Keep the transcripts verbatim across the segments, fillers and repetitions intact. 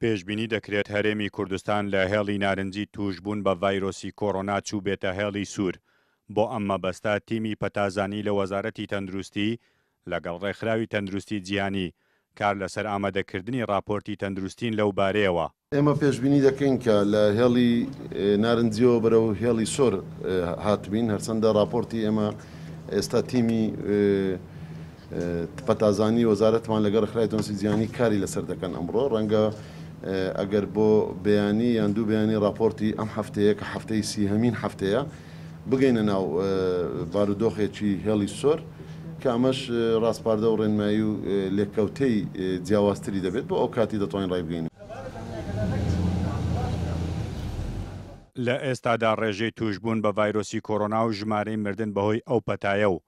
پێشبینی دەکرێت هەرێمی کوردستان لە هێڵی نارنجی تووشبوون بە ڤایرۆسی کۆرۆنا چووبێتە هێڵی سوور. بۆ ئەم مەبەستە تیمی پەتازانی لە وەزارەتی تەندروستی لەگەڵ ڕێکخراوی تەندروستی جیهانی کار لەسەر ئامادەکردنی ڕاپۆرتی تەندروستین لەو بارەیەوە. ئێمە پێشبینی دەکەین کە لە هێڵی نارنجیەوە بەرەو هێڵی سۆر هاتبین، هەرچەندە ڕاپۆرتی ئێمە ئێستا تیمی پەتازانی وەزارەتمان لەگەڵ ڕێکخراوی تەندروستی جیهانی کاری لەسەر دەکەن. ئەمڕۆ ڕەنگە ئەگەر بۆ بەیانی یان دوو بەیانی ڕاپۆرتی ئەم هەفتەیە کە هەفتەی سیهەمین هەفتەیە بگەینە ناو بارودۆخێکی هێڵی سۆر کە ئەمەش ڕاسپاردە و ڕێنمایی و لێکەوتەی جیاوازتری دەبێت بۆ ئەو کاتی دەتوانین ڕای. لە ئێستادا ڕێژەی توشبوون بە ڤایرۆسی کۆرۆنا و ژمارەی مردن بەهۆی ئەو پەتایە و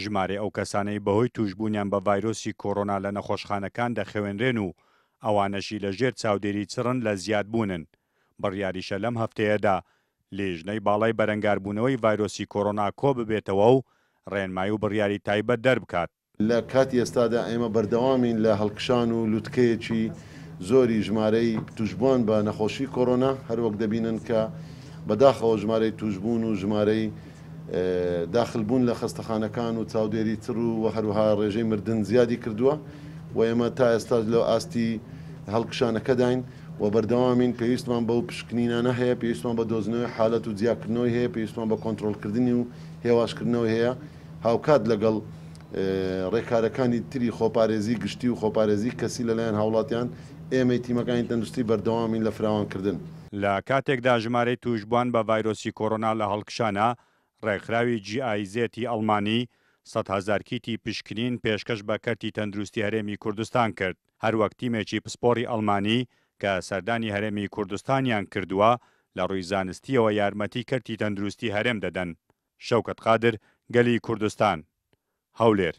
ژمارەی ئەو کەسانەی بەهۆی توشبوونیان بە ڤایرۆسی کۆرۆنا لە نەخۆشخانەکان دەخەوێنرێن و ئەوانەشی لە ژێر چاودێری چڕن لە زیادبوونن. بڕیاریشە لەم هەفتەیەدا لیژنەی باڵای بەرەنگاربوونەوەی ڤایرۆسی کۆرۆنا کۆ ببێتەوە و ڕێنمایی و بڕیاری تایبەت دەربکات. لە کاتی ئێستادا ئێمە بەردەوامین لە هەڵکشان و لوتکەیەکی زۆری ژمارەی توشبووان بە نەخۆشی کۆرۆنا، هەروەک دەبینن کە بەداخەوە ژمارەی توشبوون و ژمارەی داخلبوون لە خەستەخانەکان و چاودێری تر و هەروەها ڕێژەی مردن زیادی کردووە و ئێمە تا ئێستاش لە ئاستی هەڵکشانەکەداین و بەردەوامین. پێویستمان بەو پشکنینانە هەیە، پێویستمان بە دۆزینەوەی حالەت و جیاکردنەوەی هەیە، پێویستمان بە کۆنترۆڵکردنی و هێواشکردنەوەی هەیە، هاوکات لەگەڵ ڕێکارەکانی تری خۆپارێزی گشتی و خۆپارێزی کەسی لەلایەن هاوڵاتیان. ئێمەی تیمەکانی تەندروستی بەردەوامین لە فراوانکردن. لە کاتێکدا ژمارەی توشبووان بە ڤایرۆسی کۆرۆنا لە هەڵکشانە، ڕێکخراوی جی ئای زێتی ئەڵمانی سەد هەزار کیتی پشکنین پێشکەش بە کەرتی تەندروستی هەرێمی کوردستان کرد. هەروەک تیمێکی پسپۆڕی ئەڵمانی کە سەردانی هەرێمی کوردستانیان کردووە لە ڕووی زانستیەوە یارمەتی کەرتی تەندروستی هەرێم دەدەن. شەوکەت قادر، گەلی کوردستان، هەولێر.